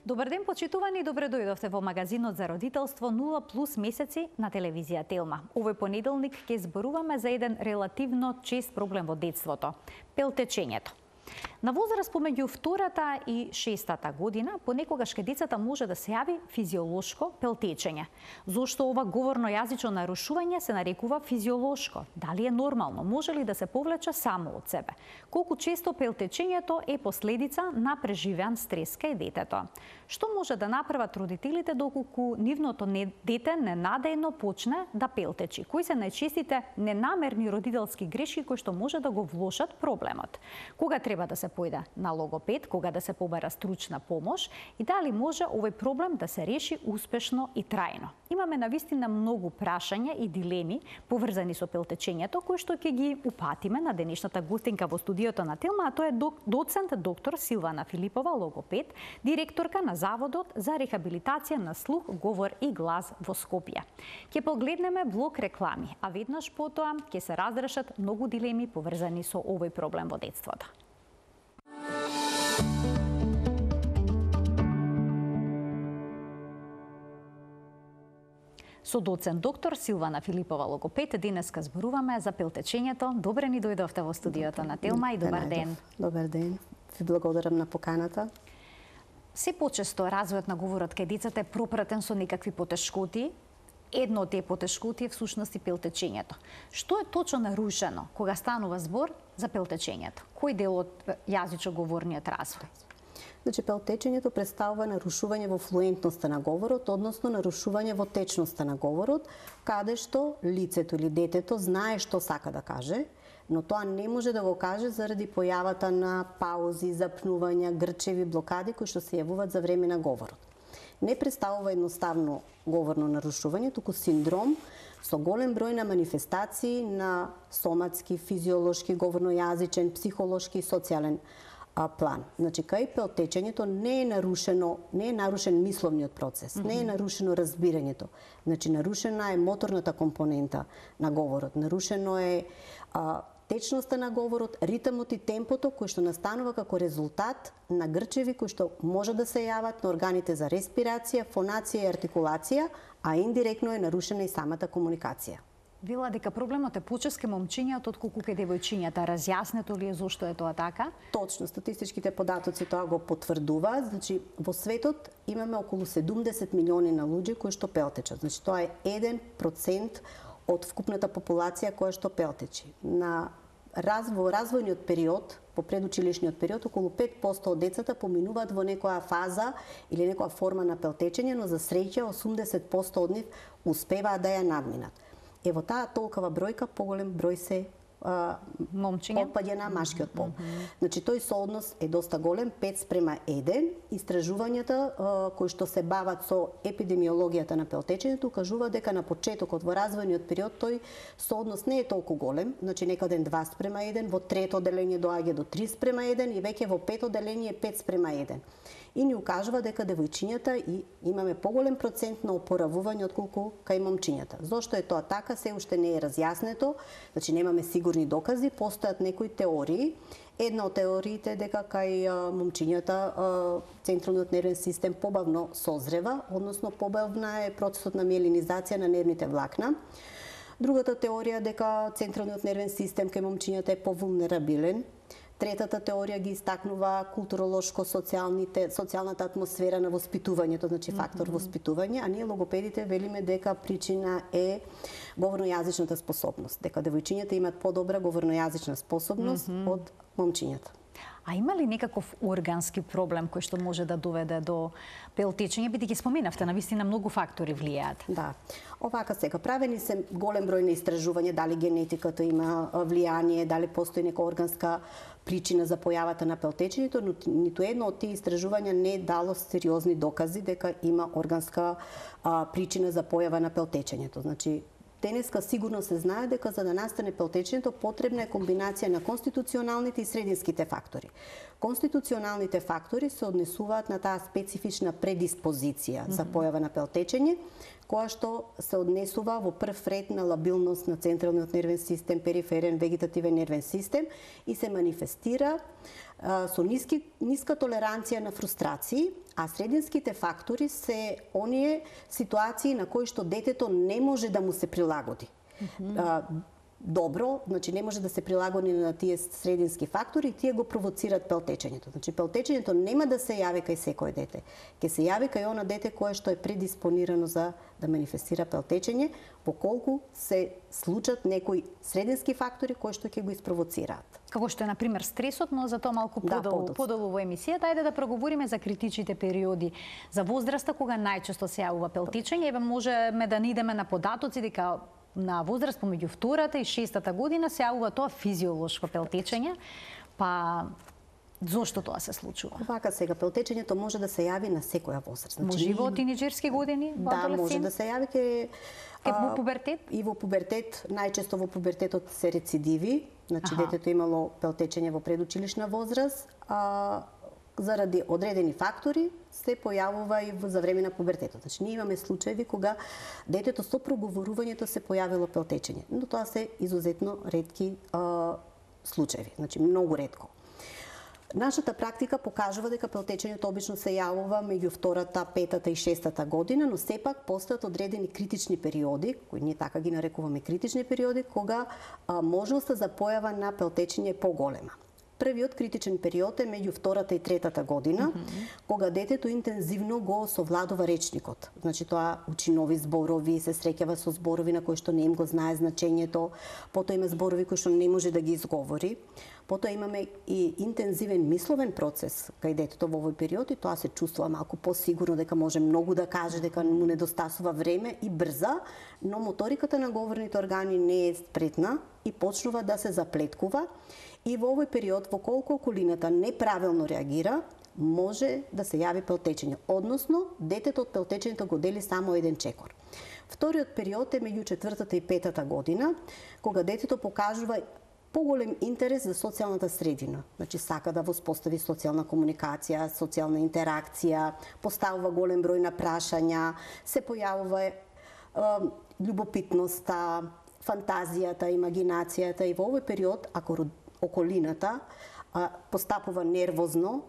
Добар ден, почитувани, добре дојдовте во магазинот за родителство 0+ месеци на телевизија Телма. Овој понеделник ќе зборуваме за еден релативно чест проблем во детството – пелтечењето. На возраст помеѓу 2-та и 6-та година, понекогаш кај децата може да се јави физиолошко пелтечење. Зошто ова говорно-јазично нарушување се нарекува физиолошко? Дали е нормално? Може ли да се повлече само од себе? Колку често пелтечењето е последица на преживеан стрес кај детето? Што може да направат родителите доколку нивното дете ненадејно почне да пелтечи? Кои се најчестите ненамерни родителски грешки кои што може да го влошат проблемот? Кога треба да се појде на логопед, кога да се побара стручна помош и дали може овој проблем да се реши успешно и трајно? Имаме навистина многу прашања и дилеми поврзани со пелтечењето, кои што ќе ги упатиме на денешната гостинка во студиото на Телма, а тоа е доцент доктор Силвана Филипова, логопед, директорка на Заводот за рехабилитација на слух, говор и глас во Скопје. Ќе погледнеме блок реклами, а веднаш потоа ќе се разрешат многу дилеми поврзани со овој проблем во детството. Со доцент доктор Силвана Филипова, логопед, денеска зборуваме за пелтечењето. Добре ни дојдовте во студиото на Телма и добар ден. Добар ден. Ви благодарам на поканата. Се почесто развојот на говорот кај децата е пропратен со некакви потешкоти. Едно од тие потешкоти е всушност и пелтечењето. Што е точно нарушено кога станува збор за пелтечењето? Кој дел од јазичко-говорниот развој? Значи, пелтечењето представува нарушување во флуентноста на говорот, односно нарушување во течноста на говорот, каде што лицето или детето знае што сака да каже, но тоа не може да го каже заради појавата на паузи, запнувања, грчеви, блокади кои што се јавуваат за време на говорот. Не представува едноставно говорно нарушување, туку синдром со голем број на манифестации на соматски, физиолошки, говорно-јазичен, психолошки и социјален план. Значи, кај пелтечењето не е нарушен мисловниот процес, не е нарушено разбирањето. Значи, нарушена е моторната компонента на говорот, нарушено е течноста на говорот, ритмот и темпото кој што настанува како резултат на грчеви кои што може да се јават на органите за респирација, фонација и артикулација, а индиректно е нарушена и самата комуникација. Вела дека проблемот е почест кај момчињата отколку кај девојчињата. Разјаснето ли е зошто е тоа така? Точно, статистичките податоци тоа го потврдуваат. Значи, во светот имаме околу 70 милиони на луѓе кои што пелтечат. Значи, тоа е 1% од вкупната популација која што пелтечи. Во развојниот период, по предучилишниот период, околу 5% од децата поминуваат во некоја фаза или некоја форма на пелтечење, но за среќа 80% од нив успеваат да ја надминат. Ево таа толкова бројка, поголем број се отпаѓа на машкиот пол. Значи, тој сооднос е доста голем, 5:1. Истражувањата кои што се бават со епидемиологијата на пелтечењето кажуваат дека на почетокот во развојниот период тој сооднос не е толку голем, значи некаде 2:1, во трето одделение доаѓа до 3:1 и веќе во пето одделение 5:1. И ни укажува дека девојчињата и имаме поголем процент на опоравување отколку кај момчињата. Зошто е тоа така, се уште не е разјаснето, значи немаме сигурни докази, постојат некои теории. Една од теориите е дека кај момчињата централниот нервен систем побавно созрева, односно побавна е процесот на миелинизација на нервните влакна. Другата теорија е дека централниот нервен систем кај момчињата е повулнерабилен. Третата теорија ги истакнува културолошко-социјалната атмосфера на воспитувањето, значи фактор воспитување, а ние логопедите велиме дека причина е говорно-јазичната способност, дека девојчињата имаат подобра говорно-јазична способност од момчињата. А има ли некаков органски проблем кој што може да доведе до пелтечење? Бидејќи споменавте, навистина многу фактори влијаат. Да. Овака сега, правени се голем број на истражувања, дали генетиката има влијание, дали постои нека органска причина за појавата на пелтечењето, но ниту едно од тие истражувања не е дало сериозни докази дека има органска причина за појава на пелтечењето. Значи, денеска сигурно се знае дека за да настане пелтечењето потребна е комбинација на конституционалните и срединските фактори. Конституционалните фактори се однесуваат на таа специфична предиспозиција за појава на пелтечење, која што се однесува во прв ред на лабилност на централниот нервен систем, периферен, вегетативен нервен систем и се манифестира со ниска толеранција на фрустрации, А срединските фактори се оние ситуации на кои што детето не може да му се прилагоди. Добро, значи не може да се прилагоди на тие средински фактори и тие го провоцираат пелтечењето. Значи пелтечењето нема да се јави кај секој дете. Ќе се јави кај она дете кое што е предиспонирано за да манифестира пелтечење, поколку се случат некои средински фактори кои што ќе го испровоцираат. Како што е на пример стресот, но за тоа малку подолу во емисијата. Ајде да проговориме за критичните периоди за возраста кога најчесто се јавува пелтечење. Еве можеме да не идеме на податоци дека на возраст помеѓу 2-та и 6-та година се јавува тоа физиолошко пелтечење, па зошто тоа се случува? Вака сега, пелтечењето може да се јави на секоја возраст. Може и во тинеџерски години, во адолесцент? Да, може да се јави во пубертет? И во пубертет, најчесто во пубертетот се рецидиви, значи детето имало пелтечење во предучилишна возраст, заради одредени фактори се појавува и за време на пубертетот. Значи ние имаме случаи кога детето со проговорувањето се појавило пелтечење, но тоа се изузетно ретки случаи, значи многу ретко. Нашата практика покажува дека пелтечењето обично се јавува меѓу 2-та, 5-та и 6-та година, но сепак постојат одредени критични периоди, кои ние така ги нарекуваме критични периоди, кога можноста за појава на пелтечење е поголема. Првиот критичен период е меѓу 2-та и 3-та година, кога детето интензивно го совладува речникот. Значи тоа учи нови зборови, се среќава со зборови на кои што не им го знае значењето, потоа има зборови кои што не може да ги изговори. Потоа имаме и интензивен мисловен процес кај детето во овој период и тоа се чувствува малку посигурно дека може многу да каже, дека му недостасува време и брза, но моториката на говорните органи не е спретна и почнува да се заплеткува. И во овој период, во колку околината неправилно реагира, може да се јави пелтечење, односно детето од пелтечењето го дели само еден чекор. Вториот период е меѓу 4-та и 5-та година, кога детето покажува поголем интерес за социјалната средина. Значи сака да воспостави социјална комуникација, социјална интеракција, поставува голем број на прашања, се појавува љубопитноста, фантазијата, имагинацијата и во овој период, ако околината постапува нервозно,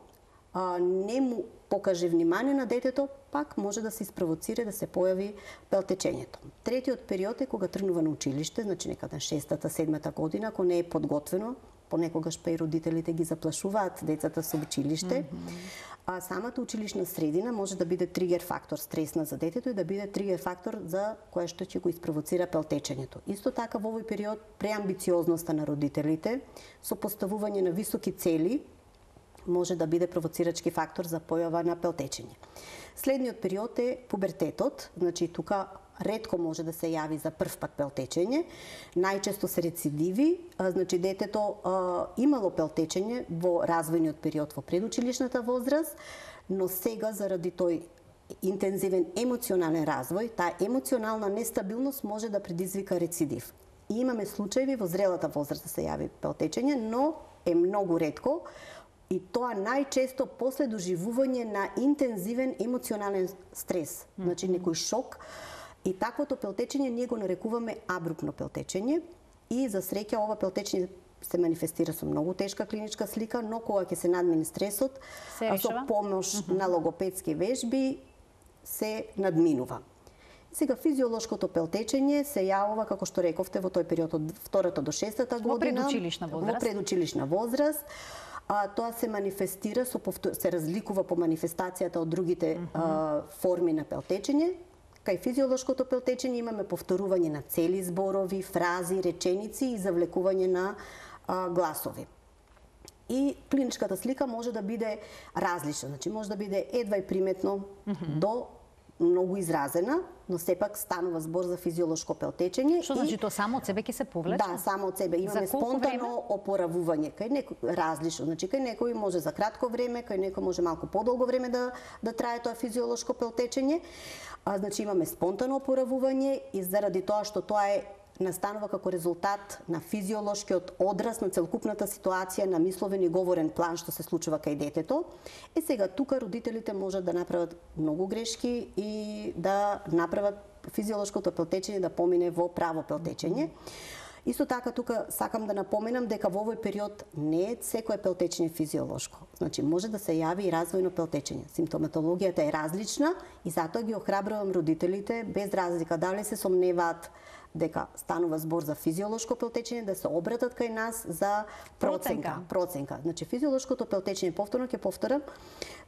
не му покаже внимание на детето, пак може да се испровоцира да се појави пелтечењето. Третиот период е кога тргнува на училиште, значи некаде 6-та, 7-та година, ако не е подготвено, понекогаш па и родителите ги заплашуваат децата со училиште. А самата училишна средина може да биде тригер фактор стресна за детето и да биде тригер фактор за која што ќе го испровоцира пелтечењето. Исто така во овој период преамбициозноста на родителите со поставување на високи цели може да биде провоцирачки фактор за појава на пелтечење. Следниот период е пубертетот, значи тука ретко може да се јави за прв пат пелтечење, најчесто се рецидиви, значи детето имало пелтечење во развојниот период во предучилишната возраст, но сега заради тој интензивен емоционален развој, таа емоционална нестабилност може да предизвика рецидив. И имаме случаи во зрелата возраст да се јави пелтечење, но е многу ретко, и тоа најчесто после доживување на интензивен емоционален стрес, значи некој шок. И таквото пелтечење ние го нарекуваме абрупно пелтечење и за среќа ова пелтечење се манифестира со многу тешка клиничка слика, но кога ќе се надмине стресот, со помош на логопедски вежби се надминува. Сега физиолошкото пелтечење се јавува, како што рековте, во тој период од 2-та до 6-та година, во предучилишна возраст. Тоа се манифестира, се разликува по манифестацијата од другите форми на пелтечење. Кај физиолошкото пелтечење имаме повторување на цели зборови, фрази, реченици и завлекување на гласови. И клиничката слика може да биде различна, значи може да биде едва и приметно до многу изразена, но сепак станува збор за физиолошко пелтечење. Што значи тоа само од себе ќе се повлече? Да, само од себе. Имаме спонтано опоравување. Кај некој различно, значи кај некој може за кратко време, кај некој може малку подолго време да трае тоа физиолошко пелтечење. Значи имаме спонтано опоравување и заради тоа што тоа е настанува како резултат на физиолошкиот одраз на целокупната ситуација на мисловен и говорен план што се случува кај детето. И сега тука родителите можат да направат многу грешки и да направат физиолошкото пелтечење да помине во право пелтечење. Исто така тука сакам да напоменам дека во овој период не е секое пелтечење физиолошко. Значи може да се јави и развојно пелтечење. Симптоматологијата е различна и затоа ги охрабрувам родителите без разлика дали се сомневаат дека станува збор за физиолошко пелтечење да се обратат кај нас за проценка. Значи физиолошкото пелтечење, повторно ќе повторам,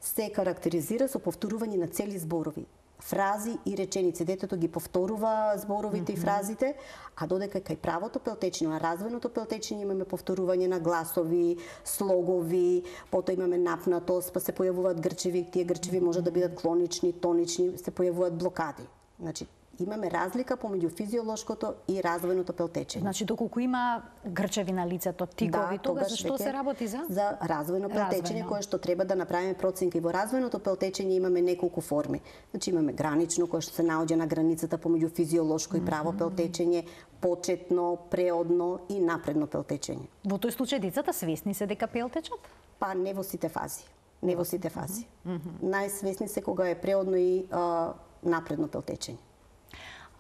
се карактеризира со повторување на цели зборови, фрази и реченици. Детето ги повторува зборовите и фразите, а додека кај правото пелтечење, на развојното пелтечење имаме повторување на гласови, слогови, потоа имаме напнатост, па се појавуваат грчеви, тие грчеви може да бидат клонични, тонични, се појавуваат блокади. Значи имаме разлика помеѓу физиолошкото и развојното пелтечење. Значи доколку има грчеви на лицето, тикови, тогаш зашто се работи за развојно пелтечење кое што треба да направиме проценка. И во развојното пелтечење имаме неколку форми. Значи имаме гранично кое што се наоѓа на границата помеѓу физиолошко и право пелтечење, почетно, преодно и напредно пелтечење. Во тој случај децата свесни се дека пелтечат? Па не во сите фази. Не во сите фази. Најсвесни се кога е преодно и напредно пелтечење.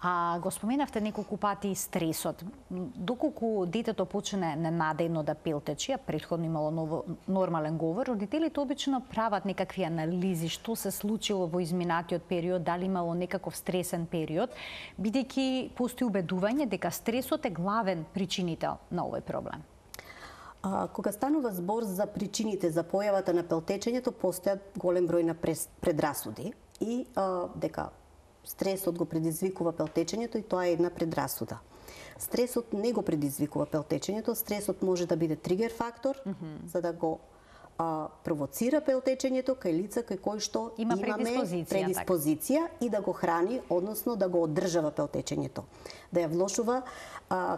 А го споменавте неколку пати стресот. Доколку детето почне ненадејно да пелтечи, а претходно имало нормален говор, родителите обично прават некакви анализи што се случило во изминатиот период, дали имало некаков стресен период, бидејќи постои убедување дека стресот е главен причинител на овој проблем. Кога станува збор за причините за појавата на пелтечењето, постојат голем број на предрасуди и дека стресот го предизвикува пелтечењето и тоа е една предрасуда. Стресот не го предизвикува пелтечењето, стресот може да биде тригер фактор за да го провоцира пелтечењето кај лица кај кои што имаме предиспозиција и да го храни, односно да го одржава пелтечењето, да ја влошува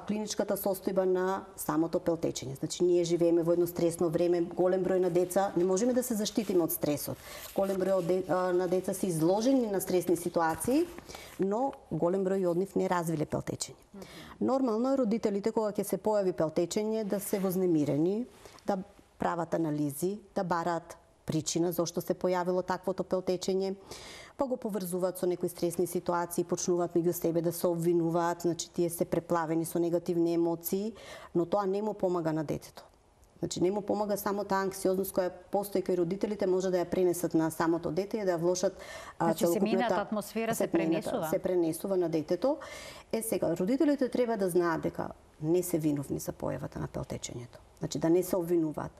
клиничката состојба на самото пелтечење. Значи ние живееме во едно стресно време, голем број на деца, не можеме да се заштитиме од стресот. Голем број на деца се изложени на стресни ситуации, но голем број од нив не развиле пелтечење. Нормално е родителите кога ќе се појави пелтечење да се вознемирени, да прават анализи, да бараат причина зошто се појавило таквото пелтечење, па го поврзуваат со некои стресни ситуации, почнуваат меѓу себе да се обвинуваат, значи тие се преплавени со негативни емоции, но тоа не му помага на детето. Значи не му помага само таа анксиозност која постои кај родителите, може да ја пренесат на самото дете и да ја влошат целокупната атмосфера се пренесува. Се пренесува на детето. Сега родителите треба да знаат дека не се виновни за појавата на пелтечењето. Значи да не се обвинуваат.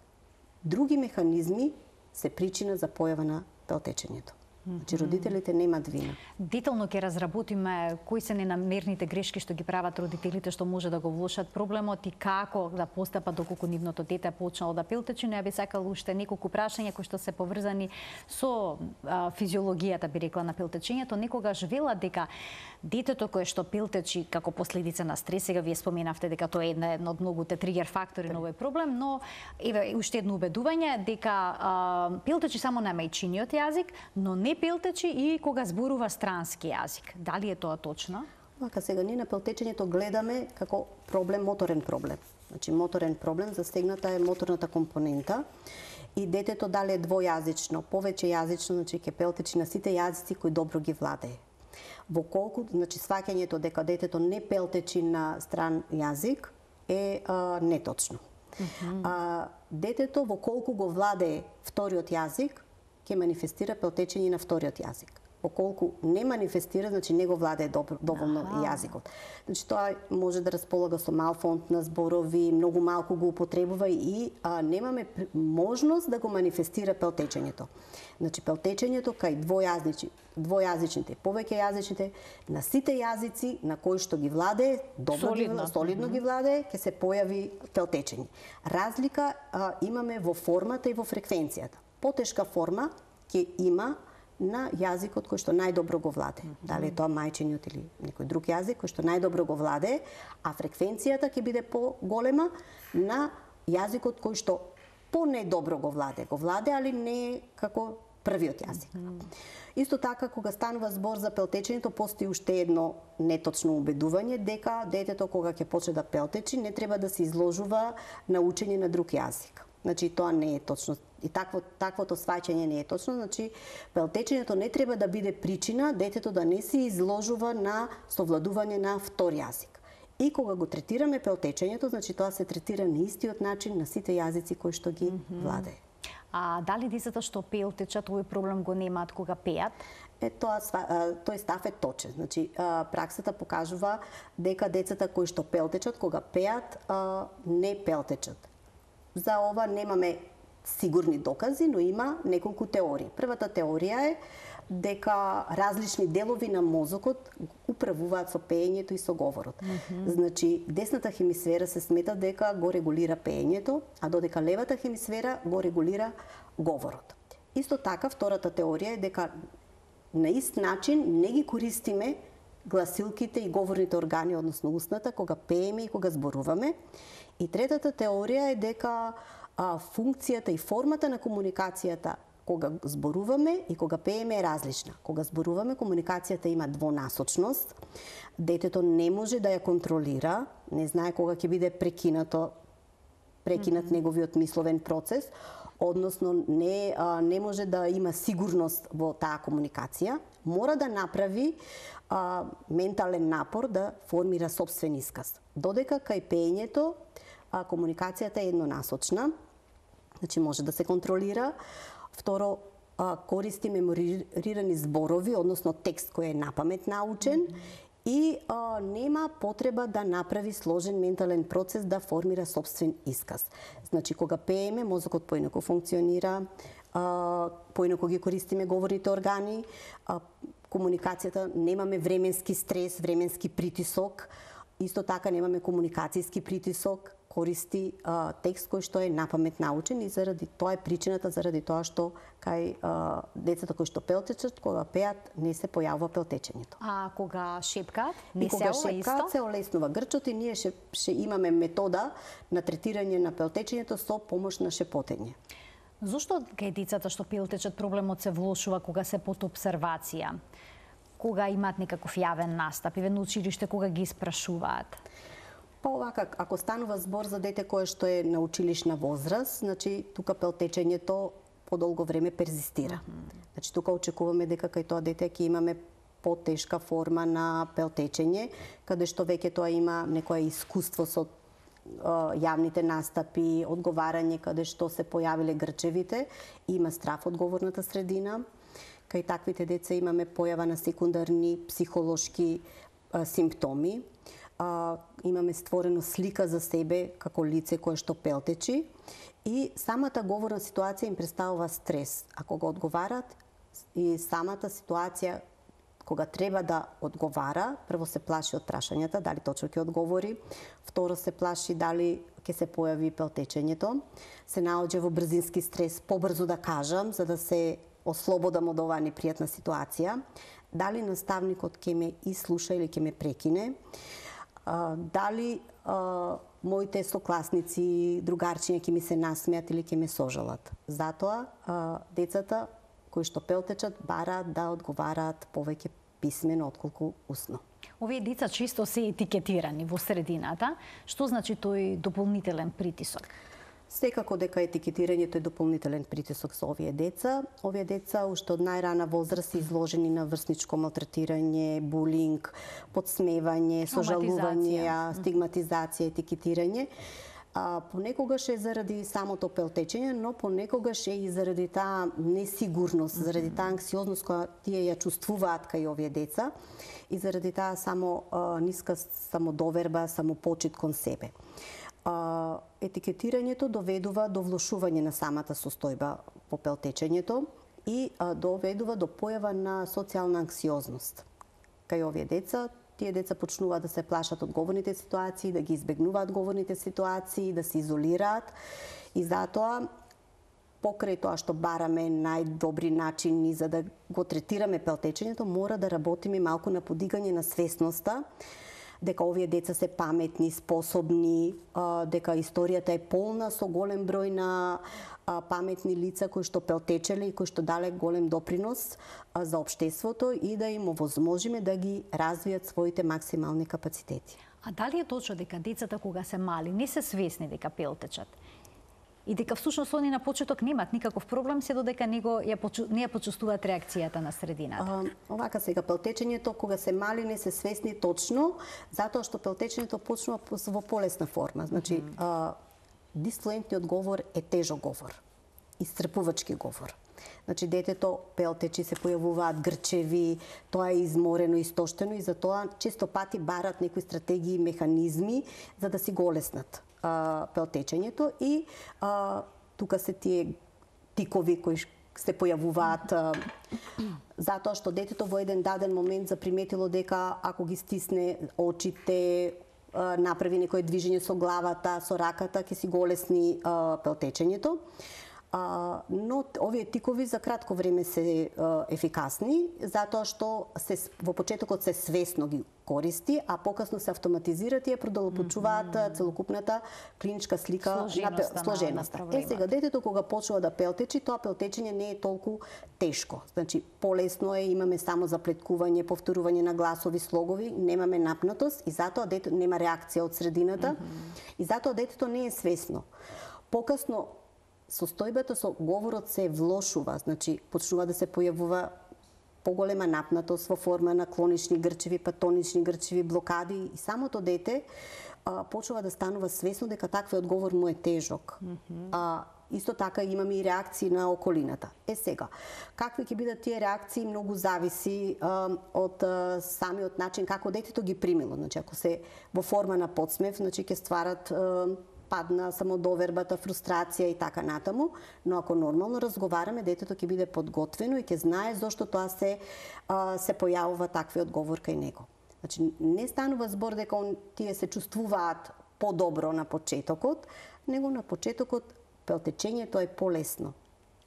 Други механизми се причина за појава на пелтечењето. Значи родителите немаат вина. Детално ќе разработиме кои се ненамерните грешки што ги прават родителите што може да го влошат проблемот и како да постапат доколку нивното дете почнало да пелтечи, но ја би сакала уште неколку прашања кои што се поврзани со физиологијата, би рекла, на пелтечењето. Некогаш велат дека детето кое што пелтечи како последица на стрес, сега вие споменавте дека тоа е едно од многуте тригер фактори на овој проблем, но еве уште едно убедување дека пелтечи само на мајчиниот јазик, но не пелтечи и кога зборува странски јазик. Дали е тоа точно? Вака сега ние на пелтечењето гледаме како проблем, моторен проблем. Значи моторен проблем, застегната е моторната компонента и детето дали е двојазично, повеќе јазично, значи ќе пелтечи на сите јазици кои добро ги владее. Во колку, значи сваќањето дека детето не пелтечи на стран јазик е неточно. Детето во колку го владее вториот јазик ќе манифестира пелтечење на вториот јазик. Околку не манифестира, значи не го владее доволно јазикот. Значи тоа може да располага со мал фонд на зборови, многу малку го употребува и немаме можност да го манифестира пелтечењето. Значи пелтечењето кај двојазичните, повеќе јазичните, на сите јазици на кои што ги владее, солидно ги владее, ќе се појави пелтечење. Разлика имаме во формата и во фреквенцијата. Потешка форма ќе има на јазикот кој што најдобро го владее. Дали е тоа мајчиниот или некој друг јазик кој што најдобро го владее, а фреквенцијата ќе биде поголема на јазикот кој што понедобро го владее. Го владее, али не како првиот јазик. Исто така, кога станува збор за пелтечењето, постои уште едно неточно убедување дека детето кога ќе почне да пелтечи не треба да се изложува на учење на друг јазик. Значи тоа не е точно. И таквото сваќање не е точно, значи пелтечењето не треба да биде причина детето да не се изложува на совладување на втор јазик. И кога го третираме пелтечењето, значи тоа се третира на истиот начин на сите јазици кои што ги владае. А дали децата што пелтечат овој проблем го немаат кога пеат? Тој став е точен. Значи, праксата покажува дека децата кои што пелтечат, кога пеат, не пелтечат. За ова немаме сигурни докази, но има неколку теории. Првата теорија е дека различни делови на мозокот управуваат со пеењето и со говорот. Значи, десната хемисфера се смета дека го регулира пеењето, а додека левата хемисфера го регулира говорот. Исто така, втората теорија е дека на ист начин не ги користиме гласилките и говорните органи, односно устната, кога пееме и кога зборуваме. И третата теорија е дека функцијата и формата на комуникацијата кога зборуваме и кога пееме е различна. Кога зборуваме, комуникацијата има двонасочност. Детето не може да ја контролира, не знае кога ќе биде прекинат неговиот мисловен процес, односно не може да има сигурност во таа комуникација, мора да направи ментален напор да формира сопствен исказ. Додека кај пеењето комуникацијата е еднонасочна, значи може да се контролира. Второ, користи меморирани зборови, односно текст кој е напамет научен, и нема потреба да направи сложен ментален процес да формира сопствен исказ. Значи, кога пееме, мозокот поинаку функционира, поинаку ги користиме говорните органи, комуникацијата, немаме временски стрес, временски притисок, исто така немаме комуникацијски притисок, користи текст кој што е напамет научен, и заради тоа е причината, заради тоа што кај децата кои што пелтечат, кога пеат, не се појавува пелтечењето. А кога шепкаат, не се кога шепкаат, се олеснува грчот, и ние ще имаме метода на третирање на пелтечењето со помош на шепотење. Зошто кај децата што пелтечат проблемот се влошува кога се под обсервација? Кога имаат некаков јавен настап, или на училиште кога ги испрашуваат? Па овака, ако станува збор за дете кое што е на училишна возраст, значи тука пелтечењето подолго време перзистира. Значи тука очекуваме дека кај тоа дете ќе имаме потешка форма на пелтечење, каде што веќе тоа има некое искуство со јавните настапи, одговарање каде што се појавиле грчевите, има страв од говорната средина. Кај таквите деца имаме појава на секундарни психолошки симптоми. Имаме створено слика за себе како лице кое што пелтечи, и самата говорна ситуација им представува стрес. Ако го одговарат, и самата ситуација кога треба да одговара, прво се плаши од прашањата, дали точно ќе одговори, второ се плаши дали ќе се појави пелтечењето, се наоѓа во брзински стрес, побрзо да кажам, за да се ослободам од оваа непријатна ситуација, дали наставникот ќе ме ислуша или ќе ме прекине, дали моите сокласници, другарчиња ќе ми се насмеат или ќе ме сожалат. Затоа децата кои што пелтечат бараат да одговараат повеќе писмено отколку усно. Овие деца често се етикетирани во средината. Што значи тој дополнителен притисок? Секако дека етикетирањето е дополнителен притисок со овие деца. Овие деца уште од најрана возраст се изложени на врсничко малтретирање, булинг, подсмевање, сожалување, стигматизација, етикетирање. Понекогаш е заради самото пелтечење, но понекогаш е и заради таа несигурност, заради таа анксиозност која тие ја чувствуваат кај овие деца, и заради таа ниска самодоверба, самопочит кон себе. Етикетирањето доведува до влошување на самата состојба по пелтечењето и доведува до појава на социјална анксиозност. Кај овие деца, тие деца почнуваат да се плашат од говорните ситуации, да ги избегнуваат говорните ситуации, да се изолираат, и затоа покрај тоа што бараме најдобри начини за да го третираме пелтечењето, мора да работиме малку на подигање на свесноста дека овие деца се паметни, способни, дека историјата е полна со голем број на паметни лица кои што пелтечеле и кои што дале голем допринос за општеството, и да им овозможиме да ги развијат своите максимални капацитети. А дали е точно дека децата кога се мали не се свесни дека пелтечат? и дека всушност они на почеток немаат никаков проблем се додека не ја почувствуваат реакцијата на средината. Овака сега пелтечењето кога се мали не се свесни точно, затоа што пелтечењето почнува во полесна форма. Значи, дисфлуентниот говор е тежок говор, исцрпувачки говор. Значи, детето пелтечи, се појавуваат грчеви, тоа е изморено, истоштено и затоа често пати барат некои стратегии и механизми за да си го олеснат пелтечењето и тука се тие тикови кои се појавуваат затоа што детето во еден даден момент заприметило дека ако ги стисне очите, направи некое движење со главата, со раката, ќе си го олесни пелтечењето. Но овие тикови за кратко време се ефикасни, затоа што во почетокот се свесно ги користи, а покасно се автоматизираат и ја продолжуваат целокупната клиничка слика на сложеноста. Сега детето кога почнува да пелтечи, тоа пелтечење не е толку тешко. Значи полесно е, имаме само заплеткување, повторување на гласови, слогови, немаме напнатост и затоа детето нема реакција од средината и затоа детето не е свесно. Покасно состојбата со говорот се влошува, значи почнува да се појавува поголема напнатост во форма на клонични грчеви, патонични грчеви, блокади и самото дете почнува да станува свесно дека таквиот говор му е тежок. Исто така имаме и реакции на околината. Сега, какви ќе бидат тие реакции многу зависи од самиот начин како детето ги примило. Значи ако се во форма на подсмев, значи ќе стварат падна самодовербата, фрустрација и така натаму, но ако нормално разговараме, детето ќе биде подготвено и ќе знае зошто тоа се појавува таквиот говор кај него. Значи не станува збор дека тие се чувствуваат подобро на почетокот, него на почетокот пелтечењето е полесно.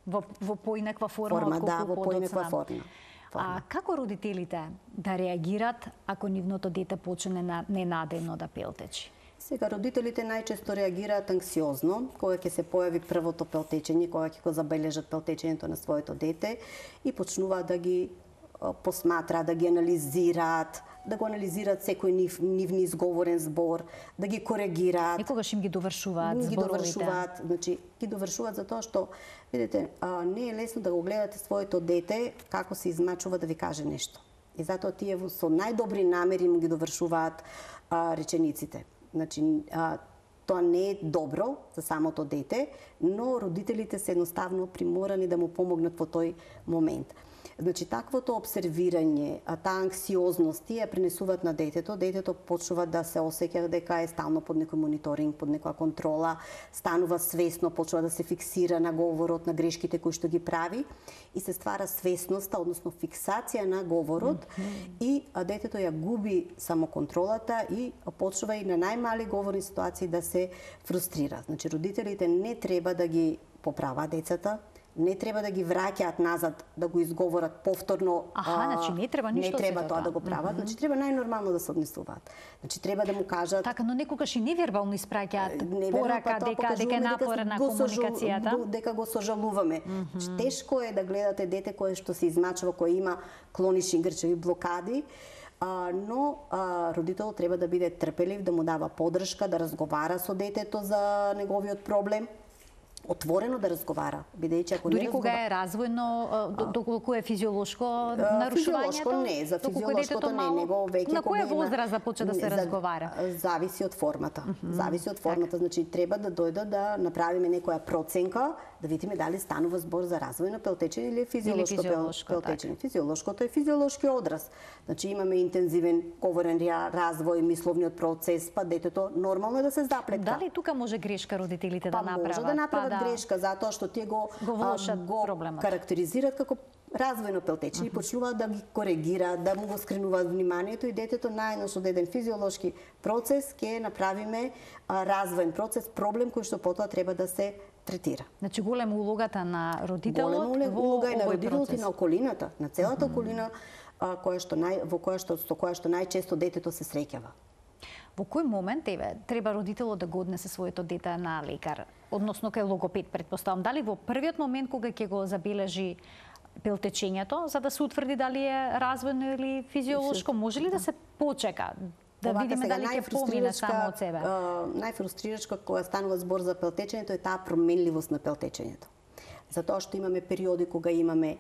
Во поинаква форма да, во поинаква форма. А како родителите да реагират ако нивното дете почне ненадејно да пелтечи? Сега, родителите најчесто реагираат анксиозно, кога ќе се појави првото пелтечење, кога ќе го забележат пелтечењето на своето дете и почнуваат да ги посматраат, да ги анализираат, да го анализираат секој нивни изговорен збор, да ги коригираат. Некогаш им ги довршуваат зборовите. Ги довршуваат, значи ги довршуваат затоа што видите, не е лесно да го гледате своето дете како се измачува да ви каже нешто. И затоа тие со најдобри намери му ги довршуваат речениците. Значи, тоа не е добро за самото дете, но родителите се едноставно приморани да му помогнат во тој момент. Значи, таквото обсервирање, таа анксиозност, тие пренесуваат на детето. Детето почнува да се осеќа дека е стално под некој мониторинг, под некоја контрола, станува свесно, почнува да се фиксира на говорот, на грешките кои што ги прави и се ствара свесноста, односно фиксација на говорот и детето ја губи самоконтролата и почнува и на најмали говорни ситуации да се фрустрира. Значи, родителите не треба да ги поправаат децата, не треба да ги враќаат назад да го изговорат повторно. Значи не треба ништо. Не треба тоа да го прават, значи треба најнормално да се однесуваат. Значи треба да му кажат. Така, но некогаш и невербално испраќаат порака дека е напорна комуникацијата. Дека го сожалуваме. Значи тешко е да гледате дете кое што се измачува, кое има клонични грчеви блокади. Но родителот треба да биде трпелив, да му дава поддршка, да разговара со детето за неговиот проблем. Отворено да разговара, бидејќи ако дури кога е развојно, доколку е физиолошко нарушувањето? Физиолошко не, за физиолошкото не, него веќе на која возраст започна да се разговара? Зависи од формата. Зависи од формата, значи треба да дојдат да направиме некоја проценка, да видиме дали станува збор за развојно пелтечење или физиолошко пелтечење. Физиолошкото е физиолошки одраз. Значи имаме интензивен говорен развој, мисловниот процес, па детето нормално е да се заплетка. Дали тука може грешка родителите да направат? Може да направат грешка затоа што тие го карактеризираат како развојно пелтечење и почнуваат да ги коригираат, да му го скренуваат вниманието и детето наеднош од еден физиолошки процес ќе направиме развоен процес, проблем кој што потоа треба да се третира. Значи голема улогата на родителот во улога и на родителот и на околината, на целата околина со која што најчесто детето се среќава. Во кој момент треба родителот да го однесе своето дете на лекар, односно кај логопед, претпоставам? Дали во првиот момент кога ќе го забележи пелтечењето, за да се утврди дали е развојно или физиолошко, може ли да се почека Да видиме дали ќе помине само од себе. Најфрустрирачка кога станува збор за пелтечењето е таа променливост на пелтечењето. Затоа што имаме периоди кога имаме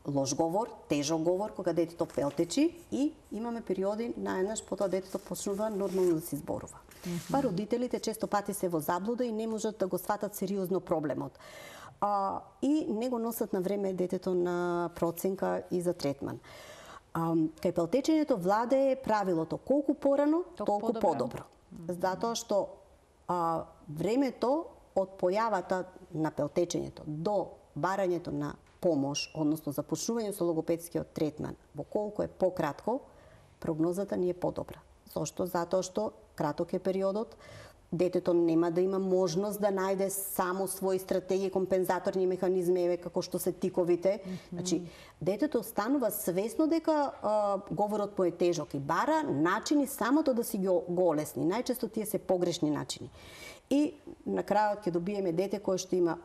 лош говор, тежок говор, кога детето пелтечи и имаме периоди наеднаш потоа детето почнува нормално да се зборува. Па родителите често пати се во заблуда и не можат да го сватат сериозно проблемот. И не го носат на време детето на проценка и за третман. Кај пелтечењето владее правилото колку порано, толку подобро. Затоа што времето од појавата на пелтечењето до барањето на помош, односно започнување со логопедскиот третман, во колку е пократко, прогнозата ни е подобра. Зошто? Затоа што краток е периодот, детето нема да има можност да најде само своји стратегии, компензаторни механизми, еве како што се тиковите. Значи, детето станува свесно дека говорот му е тежок и бара начини самото да си го олесни. Најчесто тие се погрешни начини. И на крајот ќе добиеме дете кое што има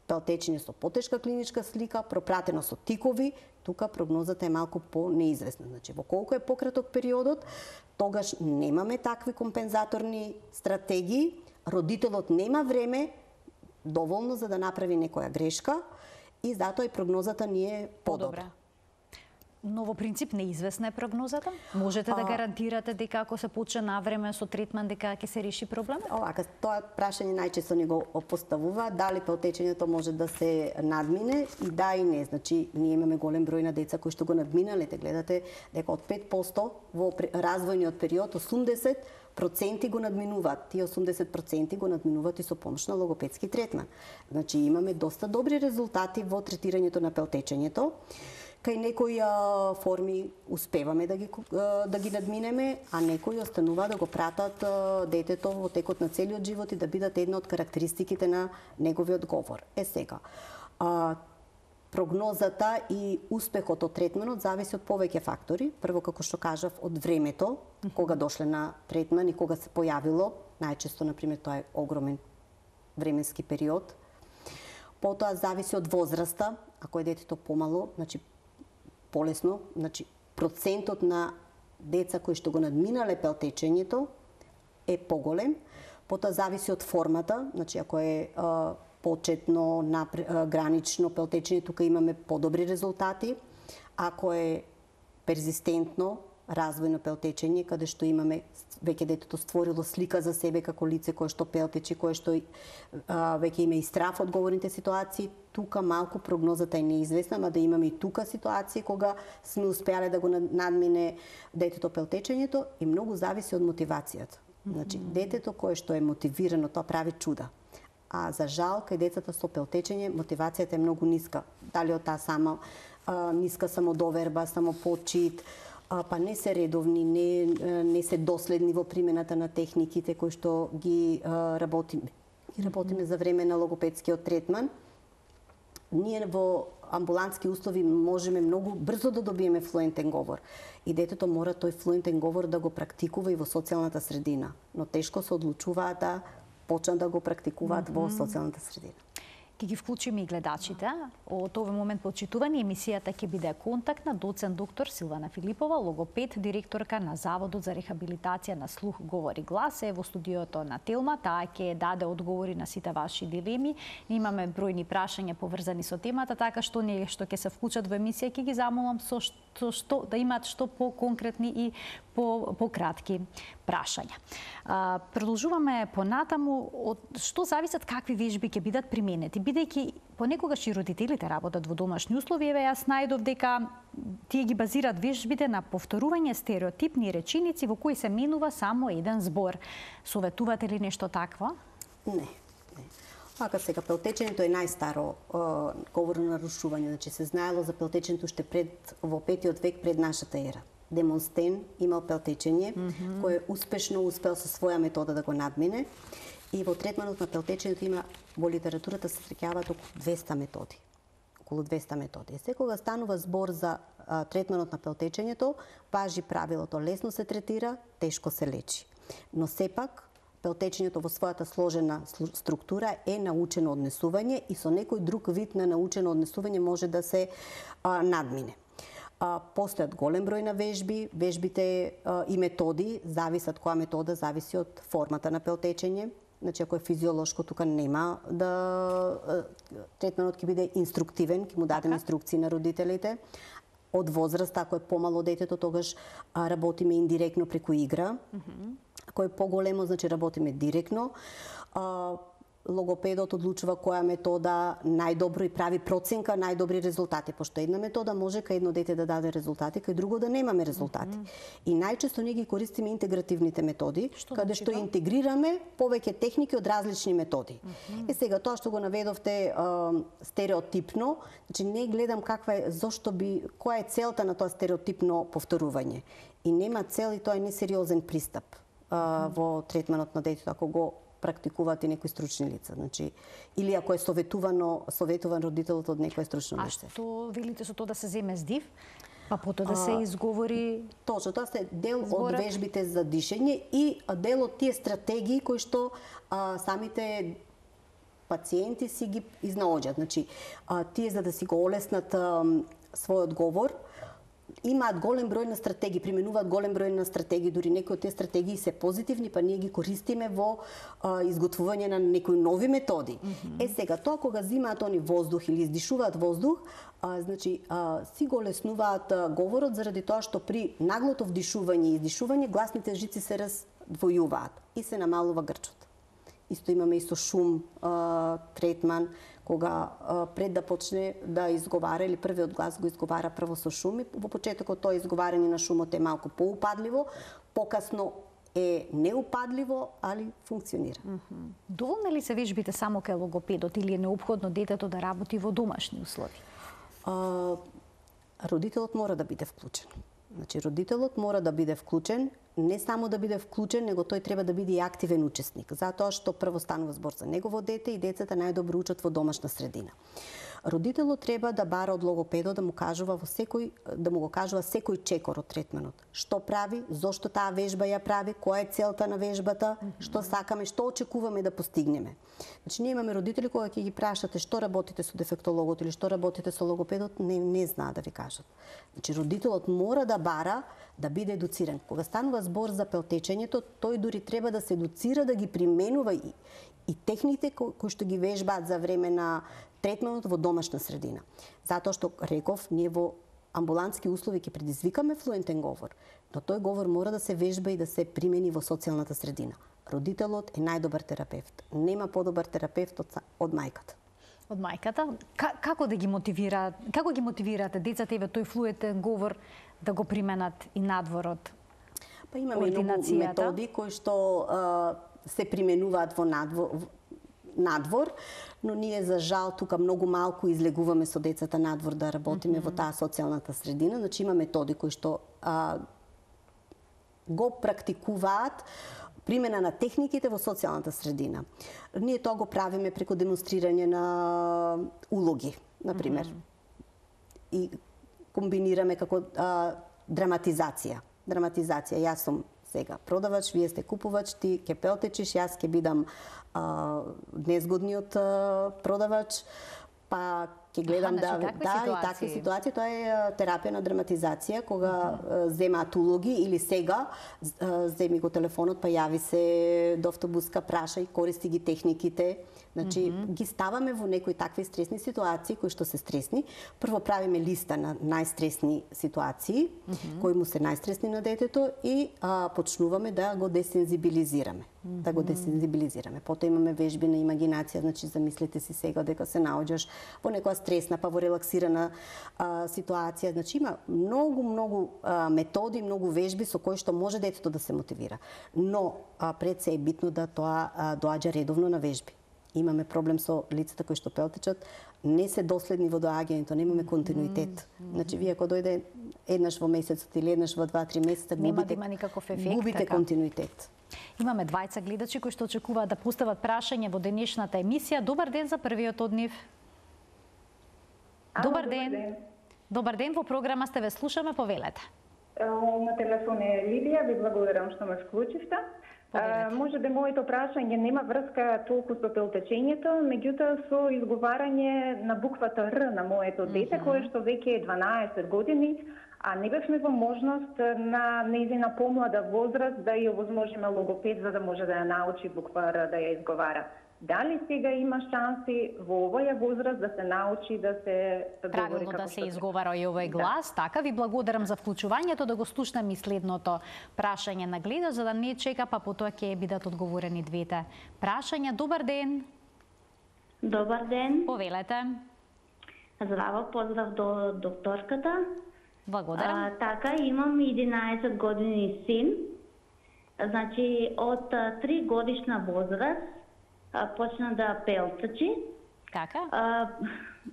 пелтечење со потешка клиничка слика, пропратено со тикови, тука прогнозата е малку по-неизвестна. Значи, во колку е пократок периодот, тогаш немаме такви компензаторни стратегии, родителот нема време доволно за да направи некоја грешка и затоа и прогнозата ни е подобра. Но во принцип неизвестна е прогнозата? Можете да гарантирате дека ако се почне на време со третман дека ќе се реши проблемот? Овака, тоа прашање најчесто ни го поставува, дали пелтечењето може да се надмине и да и не. Значи, ние имаме голем број на деца кои што го надминале. Гледате дека од 5% во развојниот период 80% го надминуваат. Тие 80% го надминуваат и со помош на логопедски третман. Значи, имаме доста добри резултати во третирањето на пелтечењето. Кај некои форми успеваме да ги надминеме, а некои останува да го пратат детето во текот на целиот живот и да бидат една од карактеристиките на неговиот говор. Сега, прогнозата и успехот од третманот зависи од повеќе фактори. Прво, како што кажав, од времето, кога дошле на третман и кога се појавило. Најчесто, например, тоа е огромен временски период. Потоа зависи од возраста, ако е детето помало, значи полесно, значи процентот на деца кои што го надминале пелтечењето е поголем. Потоа зависи од формата, значи ако е почетно, гранично пелтечење, тука имаме подобри резултати. Ако е перзистентно, развојно пелтечење, каде што имаме веќе детето створило слика за себе како лице кое што пелтечи, кое што веќе има и страф од говорните ситуации, тука малку прогнозата е неизвестна, ама да имаме и тука ситуации кога сме успеале да го надмине детето пелтечењето и многу зависи од мотивацијата. Значи, детето кое што е мотивирано, тоа прави чуда. А за жал, кај децата со пелтечење, мотивацијата е многу ниска. Дали од таа сама ниска самодоверба, самопочит, па не се редовни, не се доследни во примената на техниките кои што ги работиме за време на логопедскиот третман. Ние во амбулантски услови можеме многу брзо да добиеме флуентен говор. И детето мора тој флуентен говор да го практикува и во социјалната средина. Но тешко се одлучуваат да почнат да го практикуваат во социјалната средина. Ќе ги вклучиме и гледачите. Од овој момент почитувани емисијата ќе биде контактна доцент доктор Силвана Филипова, логопед, директорка на Заводот за рехабилитација на слух, говор и глас, е во студиото на Телма. Таа ќе даде одговори на сите ваши дилеми. Имаме бројни прашања поврзани со темата, така што ние што ќе се вклучат во емисија ќе ги замолам со што да имаат што по-конкретни и по-кратки прашања. Продолжуваме понатаму, од што зависат какви вежби ќе бидат применети, бидејќи понекогаш и родителите работат во домашни услови. Еве јас најдов дека тие ги базираат вежбите на повторување стереотипни реченици во кои се менува само еден збор. Советувате ли нешто такво? Не. Ака сега, пелтечењето е најстаро говорно нарушување. Значи се знаело за пелтечењето уште во 5-тиот век пред нашата ера. Демонстен имал пелтечење, кој успешно успел со своја метода да го надмине. И во третманот на пелтечењето има, во литературата се среќаваат околу 200 методи. Околу 200 методи. Секога станува збор за третманот на пелтечењето, важи правилото лесно се третира, тешко се лечи. Но сепак, пелтечењето во својата сложена структура е научено однесување и со некој друг вид на научено однесување може да се надмине. Постојат голем број на вежби, вежбите и методи зависат, која метода зависи од формата на пелтечење. Значи, ако е физиолошко, тука нема да третманот ќе биде инструктивен, ќе му дадем инструкции на родителите. Од возраст, ако е помало детето, тогаш работиме индиректно преку игра. Ако е поголемо, значи работиме директно. Логопедот одлучува која метода најдобро и прави проценка најдобри резултати, пошто една метода може кај едно дете да даде резултати, кај друго да немаме резултати. И најчесто ние ги користиме интегративните методи, каде што интегрираме повеќе техники од различни методи. Сега тоа што го наведовте стереотипно, значи не гледам која е целта на тоа стереотипно повторување. И нема цел и тоа е несериозен пристап во третманот на детето ако го практикуваат и некои стручни лица. Значи, или ако е советуван родителот од некој стручно лице. А што велите со тоа да се земе здив? Па потоа да се изговори... Точно, тоа се дел од вежбите за дишење и дел од тие стратегии кои што самите пациенти си ги изнаоѓаат. Значи, тие за да си го олеснат својот говор, имаат голем број на стратегии, применуваат голем број на стратегии, дури некои од тие стратегии се позитивни, па ние ги користиме во изготвување на некои нови методи. Сега тоа кога зимаат они воздух или издишуваат воздух, значи си го леснуваат говорот заради тоа што при наглото вдишување и издишување гласните жици се раздвојуваат и се намалува грчот. Исто имаме и со шум третман, кога пред да почне да изговара или првиот глас го изговара прво со шум и во почетокот тоа изговарање на шумот е малку поупадливо, покасно е неупадливо, али функционира. Доволни ли се вежбите само кај логопедот или е неопходно детето да работи во домашни услови? Родителот мора да биде вклучен. Значи, родителот мора да биде вклучен, не само да биде вклучен, него тој треба да биде и активен учесник, затоа што прво станува збор за негово дете и децата најдобро учат во домашна средина. Родителот треба да бара од логопедот да му кажува секој чекор од третманот. Што прави, зошто таа вежба ја прави, која е целта на вежбата, што сакаме, што очекуваме да постигнеме. Значи, ние имаме родители кога ќе ги прашате што работите со дефектологот или што работите со логопедот, не знаат да ви кажат. Значи, родителот мора да бара да биде едуциран. Кога станува збор за пелтечењето, тој дури треба да се едуцира да ги применува и техниките кои што ги вежбаат за време на третманот во домашна средина. Затоа што, реков, ние во амбулантски услови ќе предизвикаме флуентен говор, но тој говор мора да се вежба и да се примени во социјалната средина. Родителот е најдобар терапевт. Нема подобар терапевт од мајката. Од мајката? Како ги мотивирате децата еве тој флуентен говор да го применат и надвор од Па имаме многу методи кои што се применуваат во надвор, но ние за жал тука многу малку излегуваме со децата надвор да работиме во таа социјалната средина. Значи има методи кои што го практикуваат примена на техниките во социјалната средина. Ние тоа го правиме преку демонстрирање на улоги, например. И комбинираме како драматизација. Јас сум сега продавач, вие сте купувач, ти ќе пелтечиш, јас ќе бидам незгодниот продавач, па ќе гледам и такви ситуации. Тоа е терапија на драматизација, кога земаат улоги или сега земи го телефонот, па јави се до автобуска, праша и користи ги техниките. Значи, ги ставаме во некои такви стресни ситуации, кои што се стресни. Прво правиме листа на најстресни ситуации, кои му се најстресни на детето и почнуваме да го десензибилизираме. Потоа имаме вежби на имагинација, значи замислете си сега дека се наоѓаш во некоја стресна, па во релаксирана ситуација. Значи има многу методи, многу вежби со кои што може детето да се мотивира. Но пред се е битно да тоа доаѓа редовно на вежби. Имаме проблем со лицата кои што пелтечат, не се доследни во доаѓањето, немаме континуитет. Значи, вие ако дојде еднаш во месецот или еднаш во 2-3 месеца, губите континуитет. Имаме двајца гледачи кои што очекуваат да постават прашање во денешната емисија. Добар ден за првиот од нив. Добар ден. Добар ден, во програма сте, ве слушаме, повелете. На телефон е Лидија, ви благодарам што ме вклучивте. Може да моето прашање нема врска толку со пелтечењето, меѓутоа со изговарање на буквата Р на моето дете, кое што веќе е 12 години, а не бевме во можност на нејзина помлада возраст да ја овозможиме логопед за да може да ја научи буква Р да ја изговара. Дали сега има шанси во овоја возраст да се научи да се правилно говори да се изговара и овој глас? Да. Така, ви благодарам за вклучувањето, да го слушнем и следното прашање на гледач, за да не чека, па потоа ќе бидат одговорени двете прашања. Добар ден. Добар ден. Повелете. Здраво, поздрав до докторката. Благодарам. Така, имам 11 години син. Значи, од 3 годишна возраст почна да пелтачи. Така.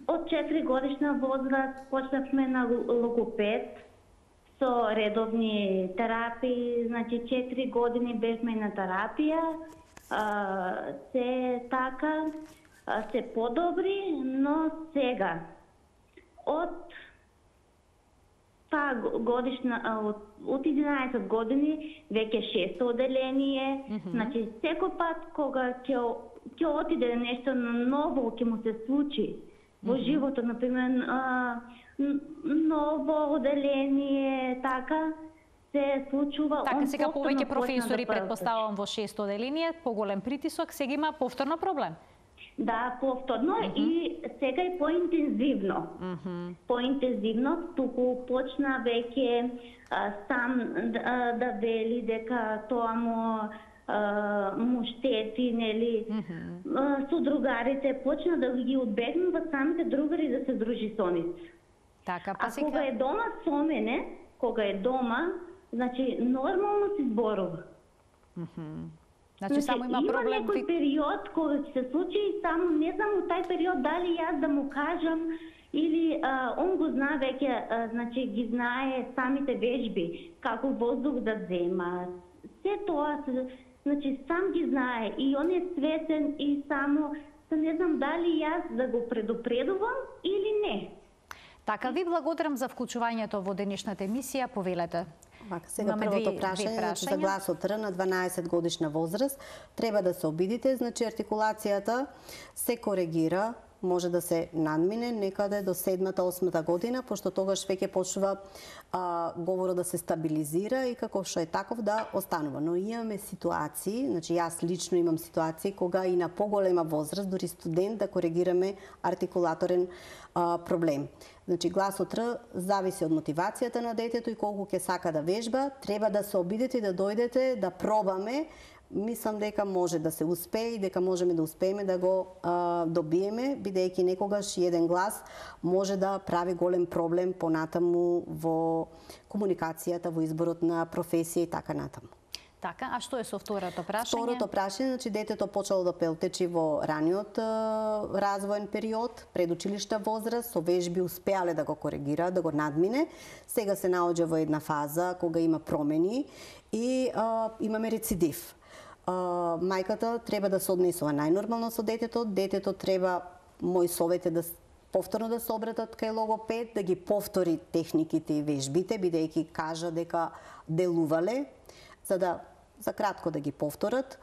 Од 4 годишна возраст почнавме на логопед со редовни терапии. Значи 4 години бевме на терапија. Се така, се подобри, но сега од од 11 години веќе 6 оделение. Значи секој пат кога ќе отиде нешто ново, ќе му се случи во животот, например ново оделение, така се случува. Така, сега повеќе професори предпоставувам во 6 оделение, поголем притисок, сега има повторно проблем. Да, повторно и сега е поинтензивно. Поинтензивно, туку почна веќе сам да вели дека тоа му штети, нели, со другарите, почна да ги одбегнува самите другари да се дружи со нив. Така, па сега... кога е дома со мене, значи нормално се зборува. Значи само има проблем. Има некој период кога ќе се случи, само не знам во тај период дали јас да му кажам или он го знае веќе, значи ги знае самите вежби, како воздух да зема. Се тоа, значи сам ги знае и он е свесен и само не знам дали јас да го предупредувам или не. Така, ви благодарам за вклучувањето во денешната емисија, повелете. Сега првото прашање за гласот Р на 12 годишна возраст. Треба да се обидите, значи артикулацијата се коригира, може да се надмине некаде до 7-8 година, пошто тогаш веќе почнува говорот да се стабилизира и како што е таков да останува. Но имаме ситуации, значи јас лично имам ситуации кога и на поголема возраст, дури студент, да коригираме артикулаторен проблем. Значи гласот Р зависи од мотивацијата на детето и колку ќе сака да вежба. Треба да се обидете и да дојдете, да пробаме. Мислам дека може да се успее и дека можеме да успееме да го добиеме, бидејќи некогаш еден глас може да прави голем проблем понатаму во комуникацијата, во изборот на професија и така натаму. Така, а што е со второто прашање? Второто прашање, значи детето почело да пелтечи во раниот развоен период, предучилишна возраст, со вежби успеале да го коригира, да го надмине. Сега се наоѓа во една фаза кога има промени и имаме рецидив. Мајката треба да се однесува најнормално со детето. Детето треба, мој совет е да повторно да се обратат кај логопед, да ги повтори техниките и вежбите, бидејќи кажа дека делувале, за кратко да ги повторат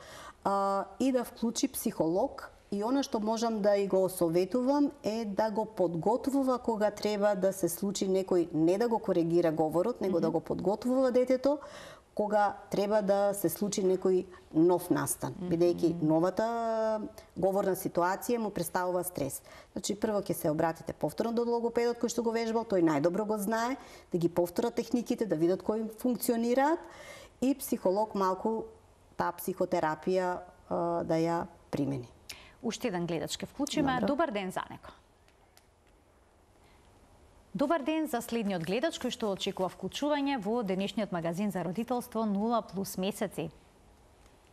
и да вклучи психолог. И она што можам да и го советувам е да го подготвува кога треба да се случи некој, не да го коригира говорот, него да го подготвува детето кога треба да се случи некој нов настан, бидејќи новата говорна ситуација му представува стрес. Значи прво ќе се обратите повторно до логопедот кој што го вежбал, тој најдобро го знае, да ги повторат техниките, да видат кои функционираат и психолог малку таа психотерапија да ја примени. Уште еден гледач ке вклучиме. Добар ден за него. Добар ден за следниот гледач кој што очекува вклучување во денешниот магазин за родителство 0+ месеци.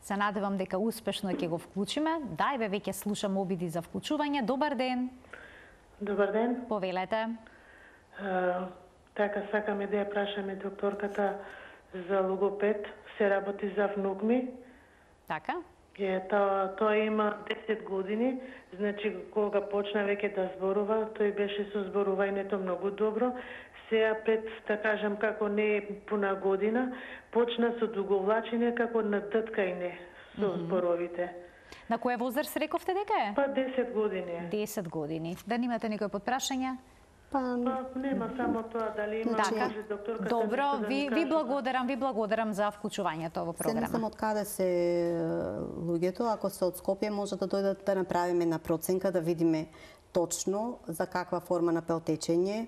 Се надевам дека успешно ќе го вклучиме. Дајбе, веќе слушам обиди за вклучување. Добар ден. Добар ден. Повелете. Така, сакаме да ја прашаме докторката за логопед. Се работи за внук ми. Така. Тоа има 10 години, значи кога почна веќе да зборува, тој беше со зборувањето многу добро. Сега пред, да кажам, како не пуна година, почна со дуговлачење како надткање со зборовите. На која возраст рековте дека е? Па 10 години. 10 години. Да немате некој подпрашање? Нема само тоа, дали има, може докторката Добро, нешто да ви кажа. благодарам за вклучувањето во Се не програма. знам од каде се луѓето, ако се од Скопје може да дојдат да направиме една проценка, да видиме точно за каква форма на пелтечење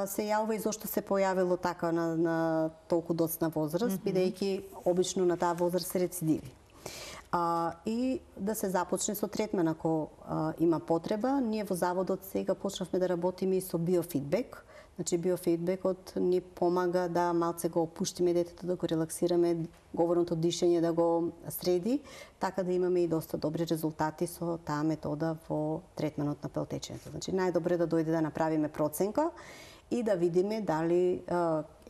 се јавува и зошто се појавило така на толку доцна возраст, бидејќи обично на таа возраст се рецидиви. И да се започне со третман ако има потреба. Ние во заводот сега почнавме да работиме и со биофидбек. Значи биофидбекот ни помага да малце го опуштиме детето, да го релаксираме, говорното дишење да го среди, така да имаме и доста добри резултати со таа метода во третманот на пелтечењето. Значи најдобре да дојде да направиме проценка и да видиме дали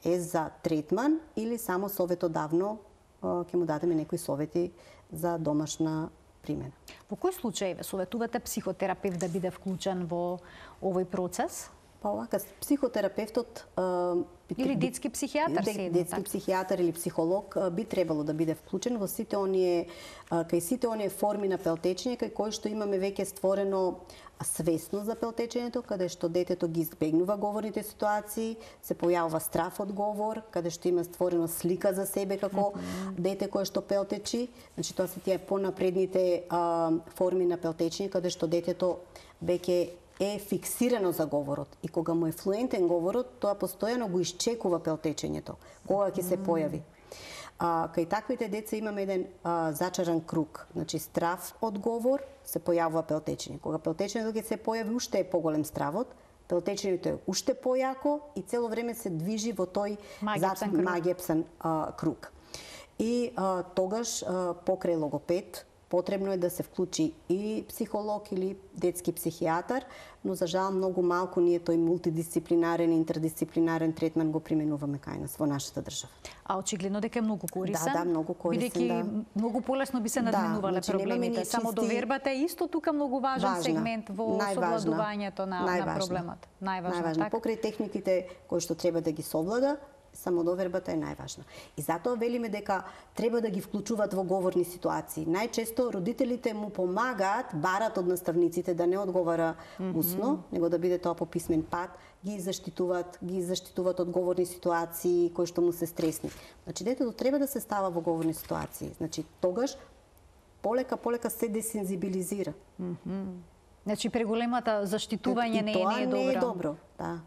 е за третман или само советодавно ќе му дадеме некои совети за домашна примена. Во кој случај ве советувате психотерапевт да биде вклучен во овој процес? Па овака, психотерапевтот или детски психијатар детски психијатар или психолог би требало да биде вклучен во сите оние кај сите оние форми на пелтечење кај кои што имаме веќе створено свесност за пелтечењето, каде што детето ги избегнува говорните ситуации, се појавува страв од говор, каде што има створено слика за себе како дете кое што пелтечи. Значи тоа се тие понапредните форми на пелтечење каде што детето веќе е фиксирано за говорот и кога му е флуентен говорот, тоа постојано го исчекува пелтечењето, кога ќе се појави. Кај таквите деца имаме еден зачаран круг, значи страв од говор, се појавува пелтечење. Кога пелтечењето ќе се појави, уште е поголем стравот, пелтечењето е уште појако и цело време се движи во тој магепсан круг. И тогаш покрај логопед потребно е да се вклучи и психолог или детски психијатар, но за жал многу малку ние тој мултидисциплинарен, интердисциплинарен третман го применуваме кај нас во нашата држава. А очигледно дека е многу корисен. Да, многу корисен, бидејќи многу полесно би се надминувале проблемите. Само довербата е исто тука многу важен сегмент во совладувањето на проблемот. Најважно. Покрај техниките кои што треба да ги совлада, самодовербата е најважна. И затоа велиме дека треба да ги вклучуваат во говорни ситуации. Најчесто родителите му помагаат, барат од наставниците да не одговара усно, него да биде тоа по писмен пат, ги заштитуваат од говорни ситуации кои што му се стресни. Значи детето треба да се става во говорни ситуации. Значи тогаш полека се десензибилизира. Значи преголемата заштитување не е добро. Не е добро, да.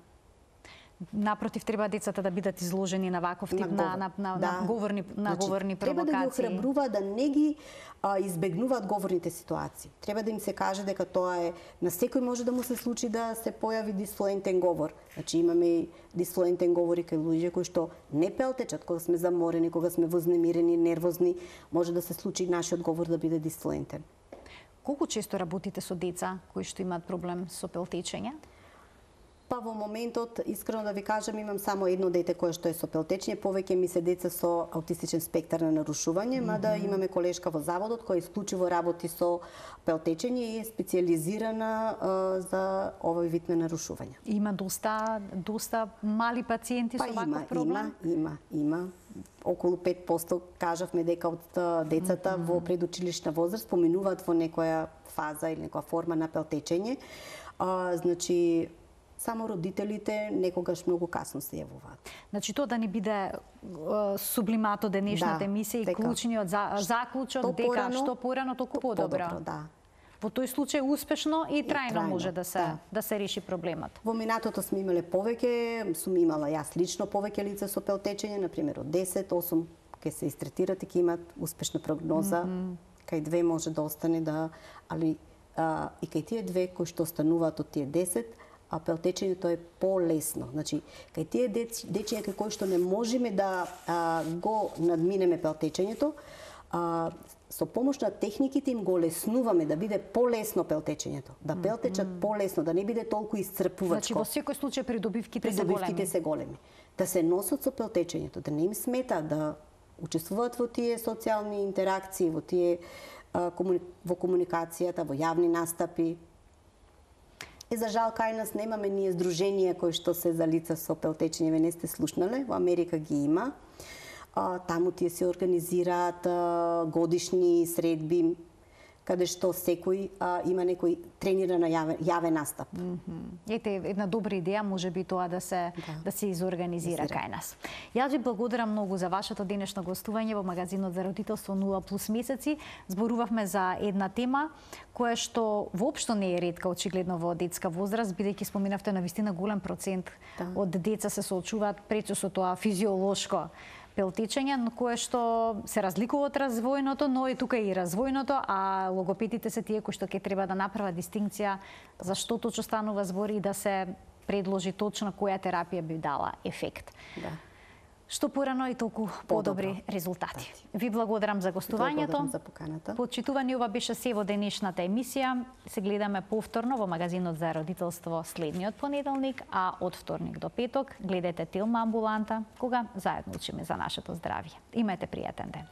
Напротив, треба децата да бидат изложени на ваков тип на говорни провокации. Треба да ги охрабруваат да не ги избегнуваат говорните ситуации. Треба да им се каже дека тоа е на секој може да му се случи да се појави дисфлуентен говор. Значи имаме и дисфлуентен говори кај луѓе кои што не пелтечат кога сме заморени, кога сме вознемирени, нервозни, може да се случи нашиот говор да биде дисфлуентен. Колку често работите со деца кои што имаат проблем со пелтечење? Па во моментот, искрено да ви кажам, имам само едно дете кое што е со пелтечење, повеќе ми се деца со аутистичен спектар на нарушување, мада имаме колешка во заводот која исклучиво работи со пелтечење и е специјализирана за овој вид на нарушување. Има доста мали пациенти со ваков проблем? Има. Околу 5% кажавме дека од децата во предучилишна возраст поминуваат во некоја фаза или некоја форма на пелтечење. Значи само родителите некогаш многу касно се јавуваат. Значи тоа да не биде сублимато денешната емисија и клучниот заклучок дека што порано толку подобро. Во тој случај успешно и трајно може да се реши проблемот. Во минатото сме имале повеќе, сум имала јас лично повеќе лица со пелтечење, на пример од 10, 8 ќе се истретират и ќе имат успешна прогноза. Кај 2 може да остане али и кај тие 2 кои што остануваат од тие 10, а пелтечењето е полесно. Значи, кај тие дечиња кај кои што не можеме да го надминеме пелтечењето, со помош на техниките им го леснуваме да биде полесно пелтечењето, да пелтечат полесно, да не биде толку исцрпувачко. Значи, во секој случај придобивките се големи. Да се носат со пелтечењето, да не им смета, да учествуваат во тие социјални интеракции, во тие во комуникацијата, во јавни настапи. И за жал кај нас немаме ние здруженија кои што се за лица со пелтечење, ве не сте слушнале, во Америка ги има. Таму тие се организираат годишни средби, каде што секој има некој трениран јавен настап. Ете, една добра идеја може би тоа да се изорганизира кај нас. Јас ви благодарам многу за вашето денешно гостување во магазинот за родителство 0+ месеци. Зборувавме за една тема која што воопшто не е ретка очигледно во детска возраст, бидејќи споминавте навистина голем процент од деца се соочуваат пречу со тоа физиолошко пелтечење, кое што се разликува од развојното, но и тука и развојното, а логопедите се тие кои што ќе треба да направат дистинкција за што точно станува збор и да се предложи точно која терапија би дала ефект. Да. Што порано и толку подобри резултати. Ви благодарам за гостувањето. Благодарам за поканата. Почитувани, ова беше се во денешната емисија. Се гледаме повторно во магазинот за родителство следниот понеделник, а од вторник до петок гледате Телма амбуланта, кога заедно учиме за нашето здравје. Имајте пријатен ден.